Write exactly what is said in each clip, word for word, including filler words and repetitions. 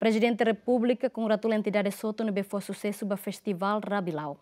Prezidente Repúblika kongratula entidades hotu ne'ebé fó susesu ba Festivál Rabilau.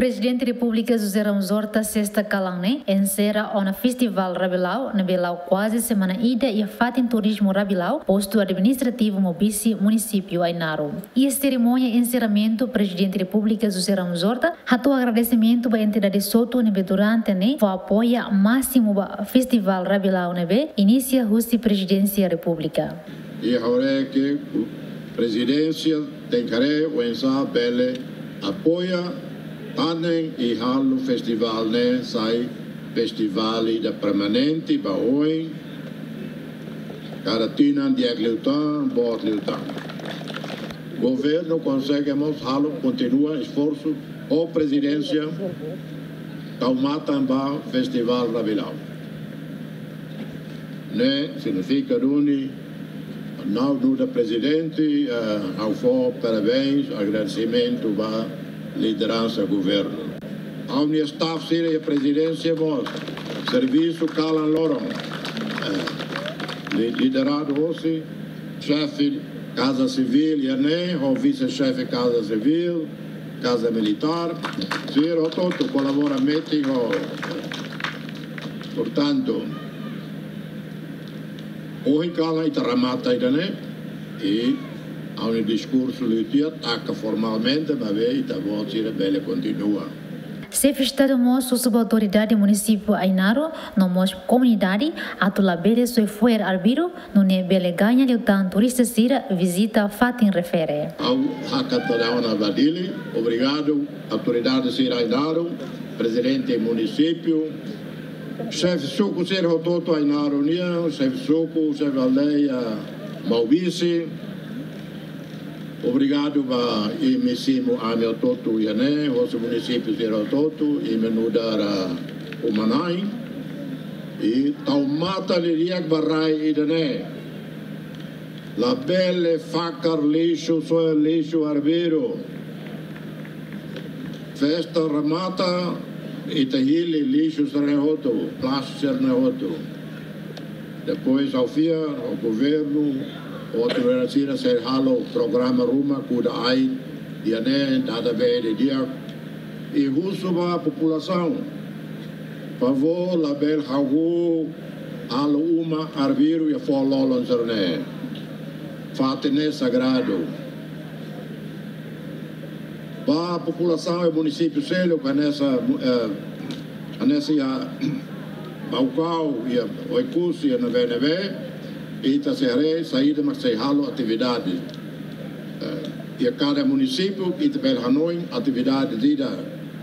Prezidente Repúblika José Ramos Horta sesta kalan ne'e enserra ona Festivál Rabilau ne'ebé la'o kuaze semana ida iha fatin turizmu Rabilau, postu administrativu Maubisse, munisípiu Ainaro. Iha serimónia enserramentu, Prezidente Repúblika José Ramos Horta hato'o agradesimentu ba entidades hotu ne'ebé durante ne'e fó apoiu másimu ba Festivál Rabilau ne'ebé inisia husi Prezidénsia Repúblika. I ha'u haree katak Prezidénsia tenke haree oinsá bele apoia tan ne'e i halo festivál ne'e sai festivál ida permanente ba oin, kada tinan di'ak liután, boot liután. Governu konsege mós halo, kontinua esforsu, ho Prezidénsia tau matan ba Festivál Rabilau. Ne'e signifika duni, ha'u nu'udar Prezidente, eh, ha'u fó parabéns, agradesimentu ba lideransa governu. Ha'u-nia staff sira iha Prezidénsia mós servisu kalan loron. Eh, li-, lideradu hosi xefe Kaza Sivíl iha ne'e, ho vise-xefe Kaza Sivíl, Kaza Militár, sira hotu-hotu kolabora metin ho. Portantu, ohin kalan ita remata ida-ne'e, i ha'u-nia diskursu liu tiha taka formalmente, maibé ita-boot sira bele kontinua. Xefe Estadu mós husu ba autoridade munisípiu Ainaro no mós komunidade atu labele soe fo'er arbiru, nune'e bele gaña liután turista sira vizita fatin refere. Ha'u hakat atu dadaun ona ba Dili, obrigadu autoridade sira Ainaro, prezidente munisípiu, xefe suku sira hotu-hotu Ainaro nian, xefe suku, xefe aldeia Maubisse. Obrigadu ba imi simu ami hotu-hotu iha ne'e, hosi munisípiu sira hotu-hotu, imi nu'udar uma-na'in. I tau matan didi'ak ba rai ida-ne'e. Labele fakar lixu, soe lixu arbiru. Festa remata, ita hili lixu sira-ne'e hotu, plástiku sira-ne'e hotu. Depois, ha'u fiar, ho governu, ho autoridade sira sei halo programa ruma kuda ain iha ne'e, dada bee didi'ak. I husu ba populasaun, favór labele hahú halo uma arbiru iha foho lolon sira-ne'e. Fatin ne'e sagradu. Ba populasaun iha munisípiu seluk, hanesan, eh, hanesan iha Baucau, iha Oekusi, iha ne'ebé-ne'ebé, ita sei haree saida mak sei halo atividade. Eh, iha kada munisípiu, ita bele hanoin atividade ida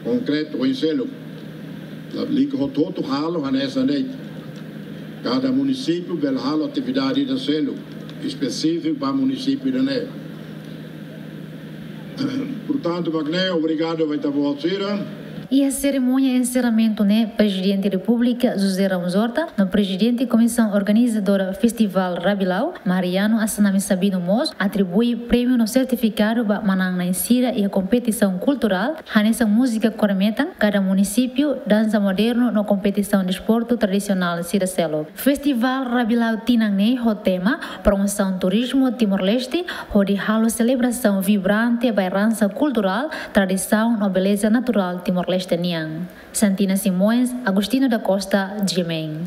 konkretu oin seluk. Lalika hotu-hotu halo hanesan de'it. Kada munisípiu bele halo atividade ida seluk, espesífiku ba munisípiu ida-ne'e. Portantu, mak ne'e, obrigadu ba ita-boot sira. Iha serimónia enserramentu ne'e, Prezidente Repúblika José Ramos Horta no Prezidente Komisaun Organizadora Festivál Rabilau, Mariano Assanami Sabino mós atribui prémiu no sertifikadu ba manán-na'in sira iha kompetisaun kulturál, hanesan múzika kore-metan kada munisípiu, dansa modernu no kompetisaun desportu tradisionál sira seluk. Festivál Rabilau tinan ne'e ho tema Promosaun Turizmu Timor-Leste, hodi halo selebrasaun vibrante ba eransa kulturál, tradisaun no beleza naturál Timor-Leste nian. Santina Simões, Agostinho da Costa, GMN.